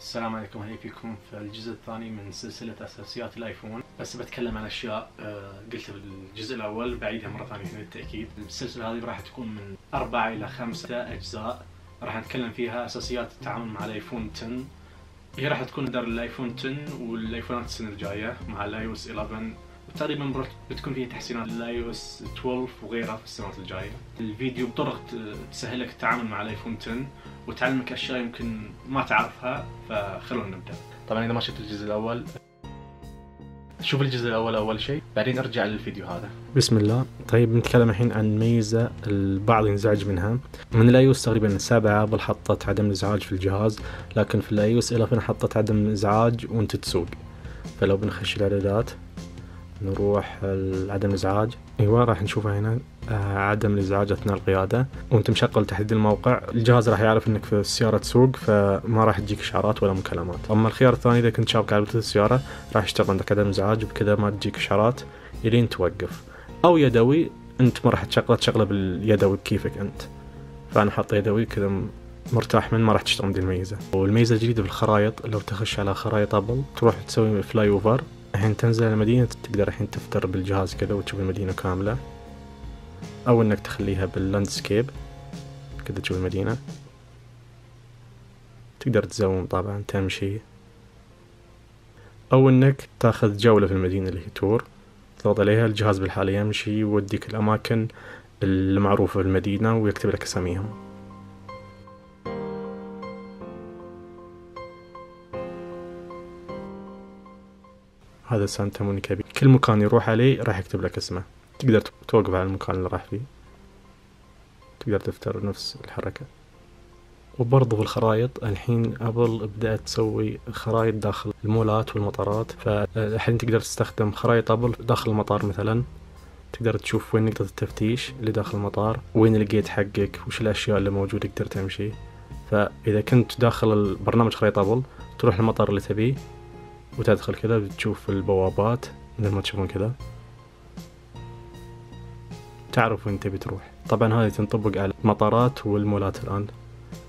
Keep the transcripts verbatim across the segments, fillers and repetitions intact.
السلام عليكم، هلا فيكم في الجزء الثاني من سلسلة أساسيات الآيفون. بس بتكلم عن أشياء قلتها بالجزء الأول بعيدها مرة ثانية للتأكيد. السلسلة هذه راح تكون من أربعة إلى خمسة أجزاء، راح نتكلم فيها أساسيات التعامل مع الآيفون عشرة. هي راح تكون در الآيفون عشرة والآيفونات السنة الجاية مع الآي أو إس إحدى عشر، وتقريبا بتكون فيه تحسينات للاي او اس اثناشر وغيرها في السنوات الجاية. الفيديو بطرق تسهلك التعامل مع الايفون عشرة وتعلمك اشياء يمكن ما تعرفها، فخلونا نبدا. طبعا اذا ما شفت الجزء الاول شوف الجزء الاول اول شيء، بعدين ارجع للفيديو هذا. بسم الله. طيب نتكلم الحين عن ميزة البعض ينزعج منها. من الاي او اس تقريبا سبعة ابل حطت عدم الازعاج في الجهاز، لكن في الاي او اس إحدى عشر حطت عدم الازعاج وانت تسوق. فلو بنخش الاعدادات نروح عدم الازعاج، ايوه راح نشوفها هنا آه عدم الازعاج اثناء القياده، وانت مشغل تحديد الموقع الجهاز راح يعرف انك في السياره تسوق، فما راح تجيك اشعارات ولا مكالمات. اما الخيار الثاني اذا كنت شابك على السياره راح يشتغل عندك عدم ازعاج، وبكذا ما تجيك اشعارات الين توقف. او يدوي، انت ما راح تشغله تشغله باليدوي كيفك انت، فانا حاط يدوي كذا مرتاح من ما راح تشتغل دي الميزه. والميزه الجديده بالخرائط، لو تخش على خرائط ابل تروح تسوي فلاي اوفر، الحين تنزل المدينة تقدر الحين تفتر بالجهاز كذا وتشوف المدينة كاملة، أو إنك تخليها باللاندسكيب كذا تشوف المدينة. تقدر تزوم طبعا تمشي، أو إنك تاخذ جولة في المدينة اللي هي تور، تضغط عليها الجهاز بالحالة يمشي يوديك الأماكن المعروفة في المدينة ويكتب لك أساميهم. هذا سانتا مونيكا بي. كل مكان يروح عليه راح يكتب لك اسمه، تقدر توقف على المكان اللي راح فيه، تقدر تفتر نفس الحركة. وبرضه في الخرائط الحين أبل بدأت تسوي خرائط داخل المولات والمطارات، فالحين تقدر تستخدم خرائط أبل داخل المطار مثلا، تقدر تشوف وين نقطة التفتيش اللي داخل المطار، وين الجيت حقك، وش الأشياء اللي موجودة تقدر تمشي. فإذا كنت داخل البرنامج خرائط أبل تروح المطار اللي تبيه وتدخل كذا بتشوف البوابات مثل ما تشوفون كذا، تعرف وين تبي تروح. طبعا هذه تنطبق على المطارات والمولات، الآن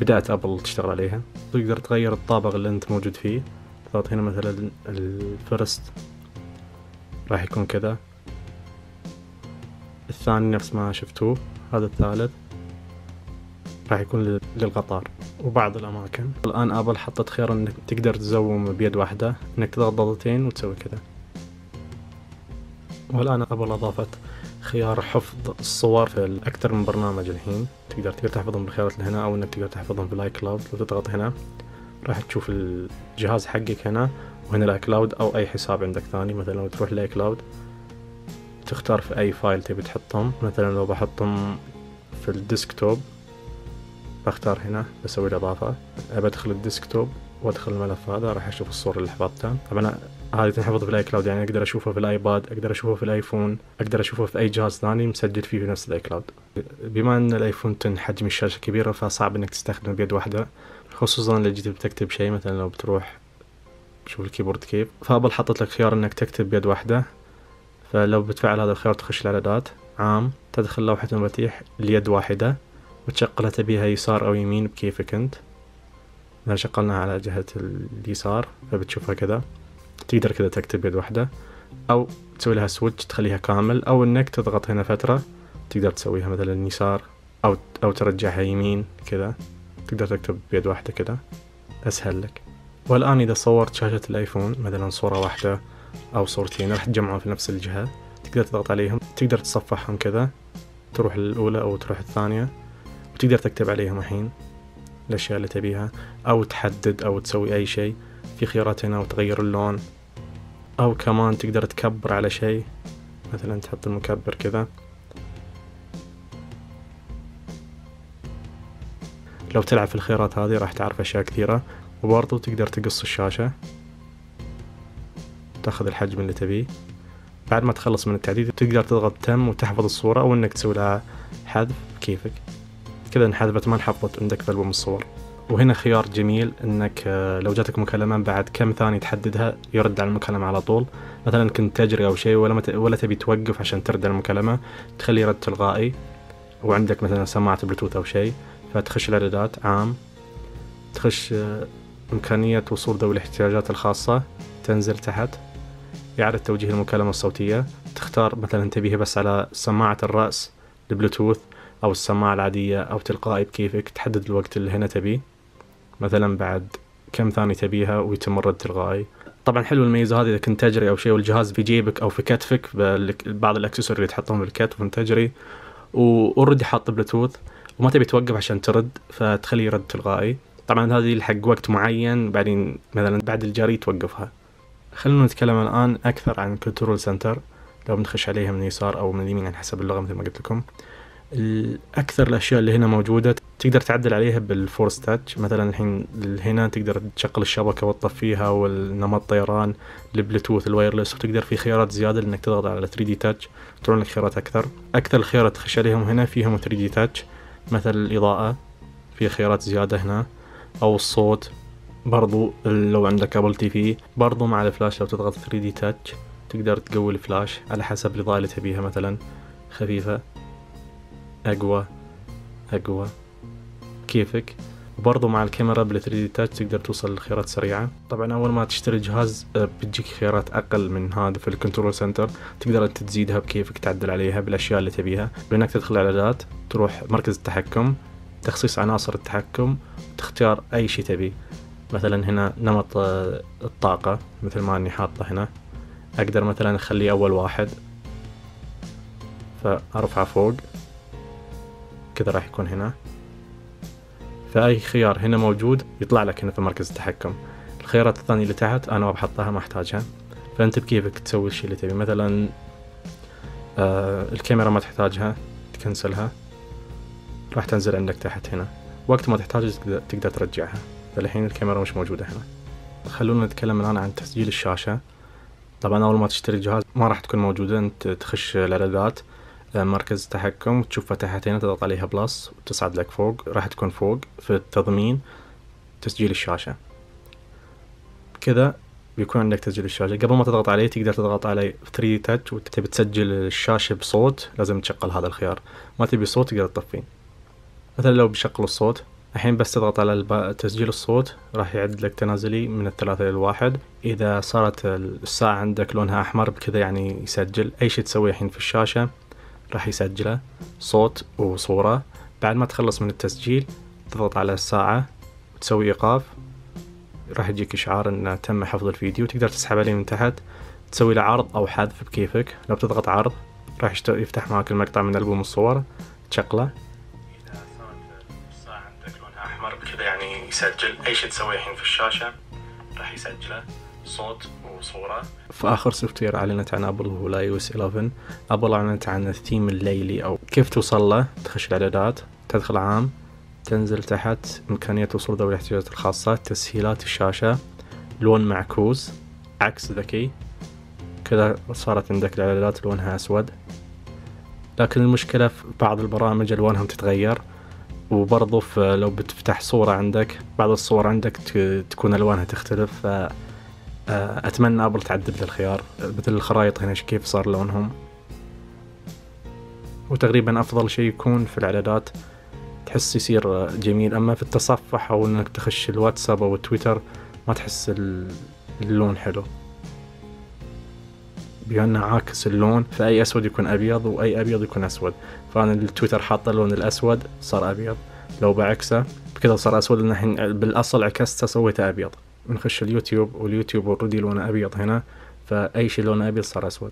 بدأت أبل تشتغل عليها. تقدر تغير الطابق اللي أنت موجود فيه، تضغط هنا مثلا الفرست راح يكون كذا، الثاني نفس ما شفتوه، هذا الثالث راح يكون للقطار وبعض الأماكن. الآن أبل حطت خيار إنك تقدر تزوم بيد واحدة، إنك تضغط ضغطتين وتسوي كذا. والآن أبل أضافت خيار حفظ الصور في أكثر من برنامج الحين، تقدر تقدر تحفظهم بالخيارات اللي هنا، أو إنك تقدر تحفظهم في الآي كلاود. لو تضغط هنا راح تشوف الجهاز حقك هنا، وهنا الآي كلاود أو أي حساب عندك ثاني. مثلا لو تروح الآي كلاود تختار في أي فايل تبي تحطهم، مثلا لو بحطهم في الديسكتوب بختار هنا بسوي الإضافة، بدخل الديسكتوب وادخل الملف هذا راح اشوف الصورة اللي حفظتها. طبعا هذه تنحفظ في الاي كلاود، يعني اقدر اشوفها في الايباد، اقدر اشوفها في الايفون، اقدر اشوفها في اي جهاز ثاني مسجل فيه في نفس الاي كلاود. بما ان الايفون عشرة حجم الشاشة كبيرة فصعب انك تستخدمه بيد واحدة، خصوصا لو جيت بتكتب شيء، مثلا لو بتروح شوف الكيبورد كيف. فابل حطت لك خيار انك تكتب بيد واحدة، فلو بتفعل هذا الخيار تخش الاعدادات عام، تدخل لوحة المفاتيح اليد واحدة وتشغلها تبيها يسار او يمين بكيفك انت. اذا شغلناها على جهة اليسار فبتشوفها كذا، تقدر كذا تكتب بيد واحدة، او تسوي لها سويتش تخليها كامل، او انك تضغط هنا فترة تقدر تسويها مثلا يسار او او ترجعها يمين كذا، تقدر تكتب بيد واحدة كذا اسهل لك. والان اذا صورت شاشة الايفون مثلا صورة واحدة او صورتين راح تجمعهم في نفس الجهة، تقدر تضغط عليهم، تقدر تصفحهم كذا، تروح للأولى او تروح الثانية، وتقدر تكتب عليهم الحين الأشياء اللي تبيها، أو تحدد أو تسوي أي شيء في خيارات هنا، وتغير اللون، أو كمان تقدر تكبر على شيء، مثلا تحط المكبر كذا. لو تلعب في الخيارات هذه راح تعرف أشياء كثيرة. وبرضو تقدر تقص الشاشة، تاخذ الحجم اللي تبيه. بعد ما تخلص من التعديل تقدر تضغط تم وتحفظ الصورة، أو إنك تسوي لها حذف كيفك كذا، انحذفت ما انحفظت عندك في ألبوم الصور. وهنا خيار جميل انك لو جاتك مكالمة بعد كم ثانية تحددها يرد على المكالمة على طول. مثلا كنت تجري او شيء ولا مت... ولا تبي توقف عشان ترد على المكالمة، تخلي رد تلقائي، وعندك مثلا سماعة بلوتوث او شيء، فتخش الاعدادات عام، تخش إمكانية وصول ذوي الاحتياجات الخاصة، تنزل تحت إعادة توجيه المكالمة الصوتية، تختار مثلا تبيها بس على سماعة الرأس البلوتوث أو السماعة العادية أو تلقائي بكيفك، تحدد الوقت اللي هنا تبيه مثلا بعد كم ثانية تبيها ويتم الرد تلقائي. طبعا حلو الميزة هذه إذا كنت تجري أو شيء والجهاز في جيبك أو في كتفك، بعض الأكسسوار اللي تحطهم بالكتف وانت تجري وأوريدي حاط بلوتوث وما تبي توقف عشان ترد فتخليه يرد تلقائي. طبعا هذه حق وقت معين، بعدين مثلا بعد الجري توقفها. خلونا نتكلم الآن أكثر عن كنترول سنتر. لو بنخش عليها من اليسار أو من اليمين على حسب اللغة مثل ما قلت لكم. الأكثر الأشياء اللي هنا موجودة تقدر تعدل عليها بالفورس تاتش. مثلا الحين هنا تقدر تشغل الشبكة وتطفيها والنمط طيران، البلوتوث، الوايرلس، وتقدر في خيارات زيادة لأنك تضغط على ثري دي تاتش ترون لك خيارات أكثر. أكثر الخيارات تخش عليهم هنا فيهم ثري دي تاتش، مثل الإضاءة في خيارات زيادة هنا، أو الصوت برضو لو عندك أبل تي في. برضو مع الفلاش لو تضغط ثري دي تاتش تقدر تقوي الفلاش على حسب الإضاءة اللي تبيها، مثلا خفيفة، أقوى، أقوى، كيفك. وبرضو مع الكاميرا بال ثري دي تاتش تقدر توصل لخيارات سريعة. طبعا أول ما تشتري الجهاز بتجيك خيارات أقل من هذا في الكنترول سنتر، تقدر أنت تزيدها بكيفك، تعدل عليها بالأشياء اللي تبيها. بأنك تدخل إعدادات، تروح مركز التحكم، تخصيص عناصر التحكم، تختار أي شيء تبي. مثلا هنا نمط الطاقة مثل ما أني حاطة هنا، أقدر مثلا أخليه أول واحد فأرفعه فوق كذا راح يكون هنا. فأي خيار هنا موجود يطلع لك هنا في مركز التحكم. الخيارات الثانية اللي تحت أنا ما بحطها، ما أحتاجها، فأنت بكيفك تسوي الشيء اللي تبي. مثلا آه الكاميرا ما تحتاجها تكنسلها، راح تنزل عندك تحت هنا، وقت ما تحتاج تقدر ترجعها. فالحين الكاميرا مش موجودة هنا. خلونا نتكلم الآن عن تسجيل الشاشة. طبعا أول ما تشتري الجهاز ما راح تكون موجودة، أنت تخش الإعدادات، مركز التحكم، تشوف فتحت هنا، تضغط عليها بلس وتصعد لك فوق، راح تكون فوق في التضمين تسجيل الشاشة. كذا بيكون عندك تسجيل الشاشة. قبل ما تضغط عليه تقدر تضغط على ثري دي تاتش وتبي تسجل الشاشة بصوت، لازم تشغل هذا الخيار. ما تبي صوت تقدر تطفيه. مثلا لو بشغل الصوت الحين بس تضغط على تسجيل الصوت راح يعد لك تنازلي من الثلاثة للواحد. إذا صارت الساعة عندك لونها أحمر بكذا يعني يسجل أي شيء تسويه الحين في الشاشة راح يسجله صوت وصورة. بعد ما تخلص من التسجيل تضغط على الساعة وتسوي إيقاف، راح يجيك إشعار إنه تم حفظ الفيديو. تقدر تسحب عليه من تحت تسوي له عرض أو حذف بكيفك. لو بتضغط عرض راح يفتح معك المقطع من ألبوم الصور، تشغله. إذا صارت الساعة عندك لونها أحمر بكذا يعني يسجل أي شيء تسويه الحين في الشاشة راح يسجله صوت وصورة. في آخر سوفت وير أعلنت عن أبل هو اي او اس إليفن. أبل أعلنت عن الثيم الليلي أو كيف توصل له. تخش الإعدادات، تدخل عام، تنزل تحت إمكانية وصول ذوي الاحتياجات الخاصة، تسهيلات الشاشة، لون معكوس، عكس ذكي. كذا صارت عندك الإعدادات لونها أسود. لكن المشكلة في بعض البرامج ألوانهم تتغير، وبرضو لو بتفتح صورة عندك بعض الصور عندك تكون ألوانها تختلف. أتمنى أبل تعدل الخيار. مثل الخرائط هنا كيف صار لونهم. وتقريبا أفضل شيء يكون في الإعدادات تحس يصير جميل، أما في التصفح أو إنك تخش الواتساب أو التويتر ما تحس اللون حلو، بأنه عاكس اللون، فأي أسود يكون أبيض وأي أبيض يكون أسود. فأنا التويتر حاط اللون الأسود صار أبيض، لو بعكسه بكذا صار أسود لأن الحين بالأصل عكسته سويته أبيض. نخش اليوتيوب واليوتيوب اوريدي لونه أبيض هنا، فأي شيء لونه أبيض صار أسود.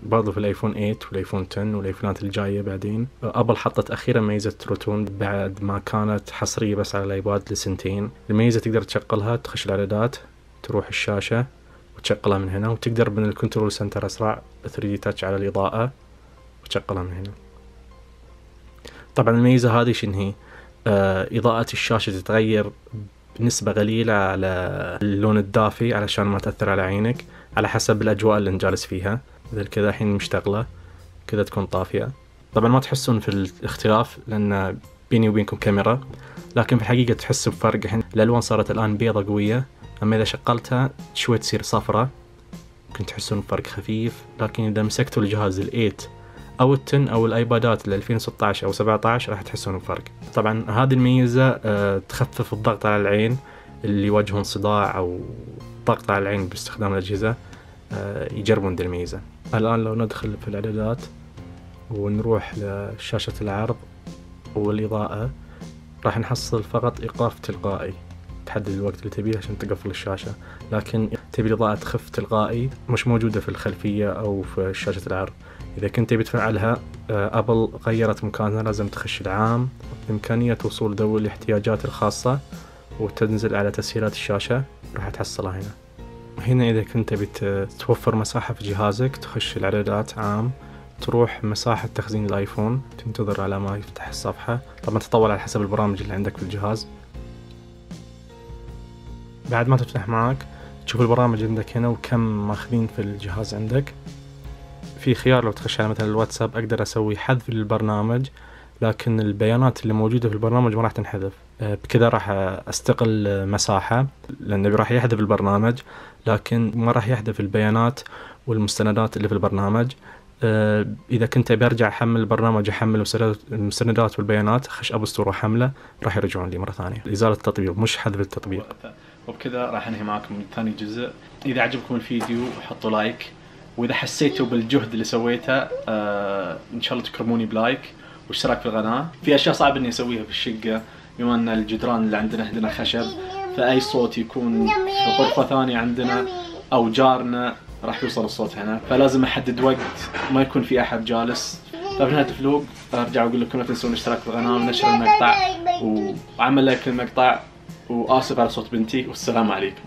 برضو في الآيفون ثمانية والآيفون عشرة والآيفونات الجاية بعدين. أبل حطت أخيرا ميزة تروتون بعد ما كانت حصرية بس على الآيباد لسنتين. الميزة تقدر تشغلها، تخش الإعدادات، تروح الشاشة وتشغلها من هنا، وتقدر من الكنترول سنتر أسرع ثري دي تاتش على الإضاءة وتشغلها من هنا. طبعا الميزة هذه شنو هي؟ آه إضاءة الشاشة تتغير بنسبة قليلة على اللون الدافي علشان ما تأثر على عينك، على حسب الأجواء اللي نجالس فيها. مثل كذا الحين مشتغلة كذا تكون طافية. طبعا ما تحسون في الاختلاف لأن بيني وبينكم كاميرا، لكن في الحقيقة تحسوا بفرق. الحين الألوان صارت الآن بيضة قوية، أما إذا شغلتها شوي تصير صفرة، ممكن تحسون بفرق خفيف. لكن إذا مسكتوا الجهاز الإيت أو التن أو الآيبادات ال ألفين وستة عشر أو سبعة عشر راح تحسون بفرق. طبعا هذه الميزة أه تخفف الضغط على العين. اللي يواجهون صداع أو ضغط على العين باستخدام الأجهزة يجربون دي الميزة. الآن لو ندخل في الإعدادات ونروح لشاشة العرض والإضاءة، راح نحصل فقط إيقاف تلقائي، تحدد الوقت اللي تبيه عشان تقفل الشاشة، لكن تبي الإضاءة تخف تلقائي مش موجودة في الخلفية أو في شاشة العرض. إذا كنت تبي تفعلها، أبل غيرت مكانها، لازم تخش العام، إمكانية وصول ذوي الاحتياجات الخاصة، وتنزل على تسهيلات الشاشة راح تحصلها هنا. هنا إذا كنت تبي توفر مساحة في جهازك، تخش الإعدادات عام، تروح مساحة تخزين الآيفون، تنتظر على ما يفتح الصفحة، طبعا تطول على حسب البرامج اللي عندك في الجهاز. بعد ما تفتح معك تشوف البرامج عندك هنا وكم ماخذين في الجهاز عندك. في خيار لو تخش على مثلا الواتساب أقدر أسوي حذف للبرنامج، لكن البيانات اللي موجودة في البرنامج ما راح تنحذف. بكذا راح أستقل مساحة، لأنه راح يحذف البرنامج لكن ما راح يحذف البيانات والمستندات اللي في البرنامج. إذا كنت برجع أحمل البرنامج أحمل المستندات والبيانات، خش أب ستور وحمله، راح يرجعون لي مرة ثانية. إزالة التطبيق مش حذف التطبيق. وبكذا راح أنهي معكم من ثاني جزء. إذا عجبكم الفيديو حطوا لايك، وإذا حسيتوا بالجهد اللي سويته آه إن شاء الله تكرموني بلايك واشتراك في القناة. في أشياء صعبة إني أسويها في الشقة، بما أن الجدران اللي عندنا عندنا خشب، فأي صوت يكون في غرفة ثانية عندنا أو جارنا راح يوصل الصوت هنا، فلازم أحدد وقت ما يكون في أحد جالس. ففي نهاية الفلوق أرجع أقول لكم لا تنسون الاشتراك في القناة ونشر المقطع وعمل لايك للمقطع، وآسف على صوت بنتي، والسلام عليكم.